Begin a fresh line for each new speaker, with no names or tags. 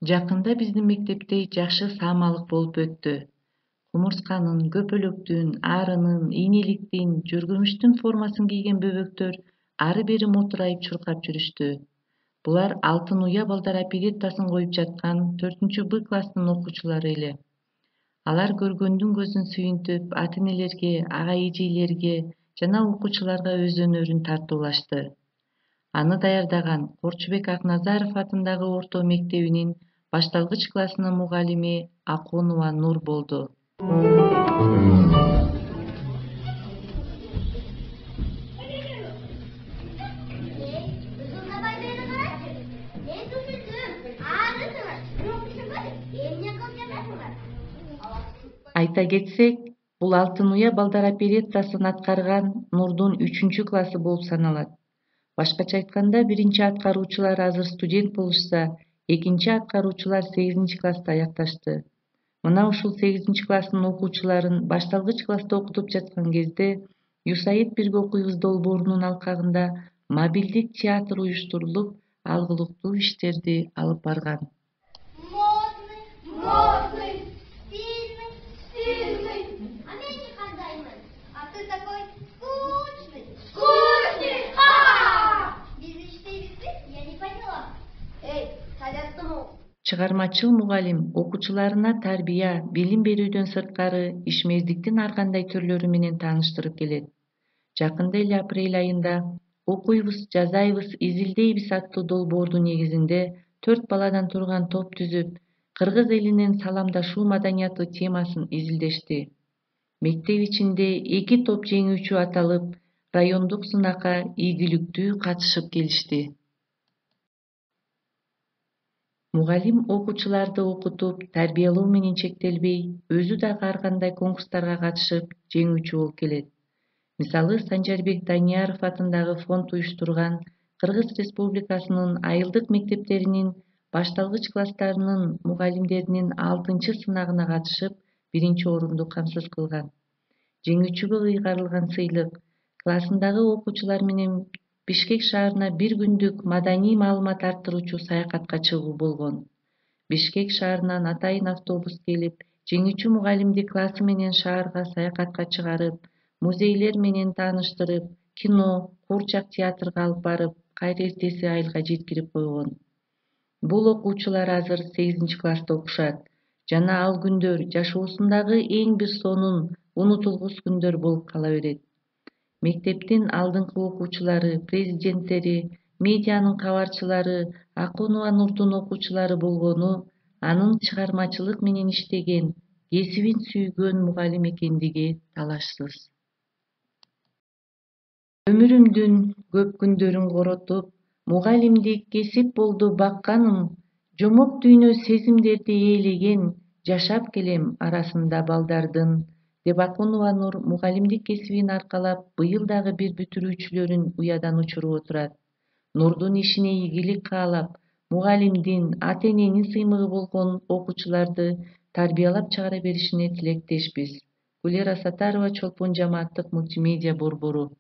Жакында биздин мектепте жакшы саамалык болуп өттү. Кумурсканын, көпөлөктүн, арынын, ийнеликтин, жүргүмүштүн формасын кийген бөбөктөр ары бери мотурайып чуркап жүрүштү. Булар Алтын уя балдар опереттасын коюп жаткан 4Б класстын окуучулары эле. Алар көргөндүн көзүн сүйүнтүп, ата-энелерге, ага-эжелерге жана окуучуларга өз өнөрүн тартуулашты. Аны даярдаган Корчубек Акназаров атындагы орто мектебинин башталгыч классынын мугалими Акунова Нур болду. Айта кетсек, бул Алтын уя балдар опереттасын аткарган Нурдун 3-классы болуп саналат. Башкача айтканда, биринчи аткаруучулар азыр студент болушса, экинчи аткаруучулар 8-класста аякташты. Мына ушул 8-класстын окуучуларын башталгыч класста окутуп жаткан кезде Юсаид бирге окуйбуз долбоорунун алкагында мобилдик театр уюштурулуп, алгылыктуу иштерди алып барган. Чыгармачыл мугалим окуучуларына тарбия, билим берүүдөн сырткары ишмердиктин ар кандай түрлөрү менен тааныштырып келет. Жакында эле апрель айында «Окуйбуз, жазайбыз, изилдейбиз» аттуу долбоордун негизинде 4 баладан турган топ түзүп, кыргыз элинин саламдашуу маданияты темасын изилдешти. Мектеп ичинде 2 топ жеңүүчү аталып, райондук сынакка ийгиликтүү катышып келишти. Мугалим окуучуларды окутуп, тарбиялоо менен чектелбей, өзү дагы ар кандай конкурстарга катышып, жеңүүчү болуп келет. Мисалы, Санжарбек Данияров атындагы фонд уюштурган Кыргыз Республикасынын айылдык мектептеринин башталгыч класстарынын мугалимдеринин 6-сынагына катышып, 1-орунду камсыз кылган. Жеңүүчүгө ыйгарылган сыйлык классындагы окуучулар менен Бишкек шаарына 1 күндүк маданий маалымат арттыруучу саякатка чыгуу болгон. Бишкек шаарынан атайын автобус келип, жеңүүчү мугалимди классы менен шаарга саякатка чыгарып, музейлер менен тааныштырып, кино, куурчак театрга алып барып, кайра эртеси айылга жеткирип койгон. Бул окуучулар азыр 8-класста окушат жана ал күндөр жашоосундагы эң бир сонун, унутулгус күндөр болуп кала берет. Мектептин алдыңкы окуучулары, президенттери, медианын кабарчылары, Акунова Нурдун окуучулары болгону анын чыгармачылык менен иштеген, кесибин сүйгөн мугалим экендиги талашсыз. Өмүрүмдүн көп күндөрүн коротуп, мугалимдик кесип болду бакканым, жомок дүйнө сезимдерди ээлеген, жашап келем арасында балдардын, деп Акунова Нур мугалимдик кесибин аркалап быйыл дагы бир бүтүрүүчүлөрүн уядан учуруп отурат. Нурдун ишине ийгилик каалап, мугалимдин, ата-эненин сыймыгы болгон окуучуларды тарбиялап чыгара беришине тилектешпиз. Гулера Сатарова, Чолпон жамааттык мультимедиа борбору.